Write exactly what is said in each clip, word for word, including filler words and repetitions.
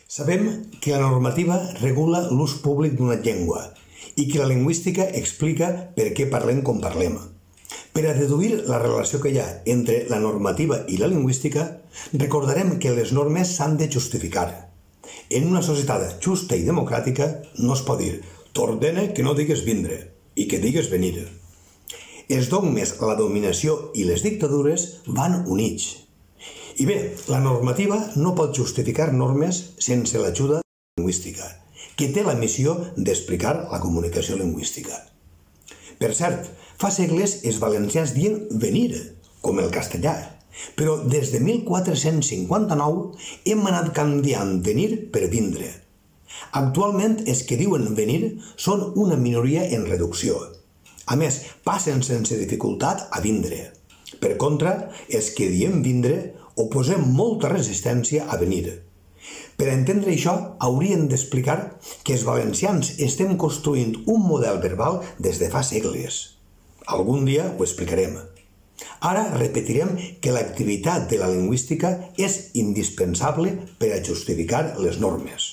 Sabem que la normativa regula l'ús públic d'una llengua i que la lingüística explica per què parlem com parlem. Per a deduir la relació que hi ha entre la normativa i la lingüística, recordarem que les normes s'han de justificar. En una societat justa i democràtica no es pot dir «t'ordene que no digues vindre» i que digues venir. Els dogmes, la dominació i les dictadures van units. I bé, la normativa no pot justificar normes sense l'ajuda lingüística, que té la missió d'explicar la comunicació lingüística. Per cert, fa segles els valencians diuen venir, com el castellà, però des de mil quatre-cents cinquanta-nou hem anat canviant venir per vindre. Actualment els que diuen venir són una minoria en reducció. A més, passen sense dificultat a vindre. Per contra, els que diem vindre oposem molta resistència a venir. Per entendre això, hauríem d'explicar que els valencians estem construint un model verbal des de fa segles. Algun dia ho explicarem. Ara repetirem que l'activitat de la lingüística és indispensable per a justificar les normes.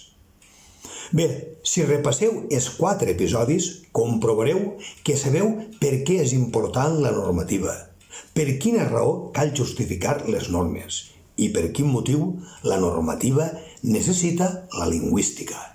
Bé, si repasseu els quatre episodis, comprovareu que sabeu per què és important la normativa, per quina raó cal justificar les normes i per quin motiu la normativa necessita la lingüística.